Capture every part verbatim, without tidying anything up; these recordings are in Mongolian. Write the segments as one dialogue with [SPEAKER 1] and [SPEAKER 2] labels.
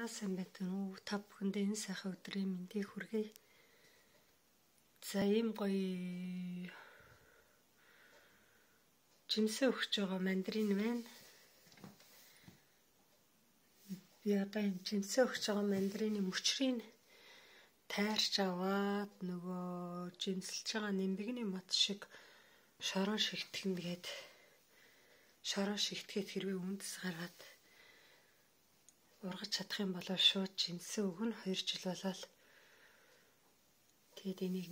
[SPEAKER 1] За сайн байна уу та бүхэндээ энэ сайхан өдрийн мэндийг хүргэе. За ийм гоё жимсээ өгч байгаа мандарин байна. Би одоо энэ жимсээ өгч байгаа мандарины мөчрийг тайрч аваад нөгөө жимсэлж байгаа нимбэгний мод шиг шорон шигтгэн гээд шорон шигтгээд хэрвээ үндэс гаргаад ургаж чадах юм бол шууд жимсээ өгнө. хоёр жил болол. Тэгээд энийг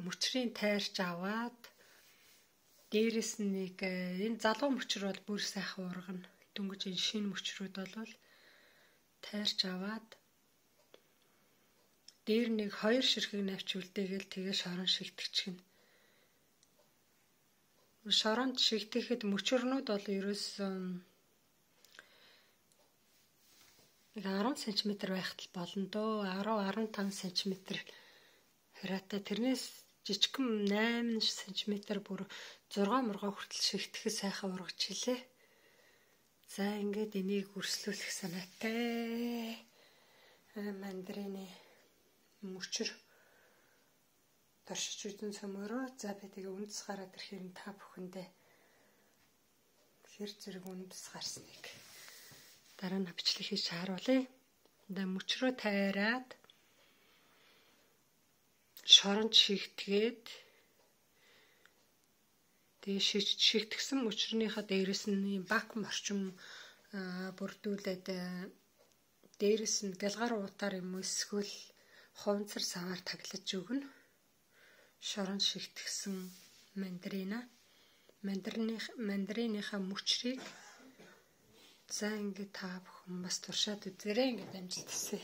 [SPEAKER 1] мөчрийн тайрч аваад дээрэс нь нэг энэ залуу мөчр бол бүр сайхан ургана. Дөнгөж энэ шинэ мөчрүүд бол тайрч аваад дээр нэг хоёр ширхэг навч үлдээгээл тэгээ шорон шигтгэчихнэ. Шоронд шигтгэхэд мөчрнүүд бол ерөөсөн арван сантиметр байхад болно дөө. арав арван таван сантиметр хараатай тэрнээс жижигхэн найман сантиметр бүр зургаан мургаа хүртэл шигтгэхэд сайхан ургаж хэлээ. За ингээд энийг өрслүүлэх санаатай. Мандарины мөчр туршиж үзэн цөмөрөө. За би тэгээ үндэс гараад ирэхээр та бүхэндээ хэр зэрэг үндэс гарсныг дараа нь бичлэг хийж харуулъя. Дэ мөчрөө тайраад шоронд шигтгээд тэгээ шигтгсэн мөчрийнхаа дээрэс нь бакум орчим бүрдүүлээд дээрэс нь гэлгар уутаар юм эсвэл хуванцар саваар таглаж өгнө. Шоронд шигтгсэн мандарина мандарины мандариныхаа мөчрийг за ингээд та бүхэн бас туршаад үзээрэй. Ингээд амжилт хүсье.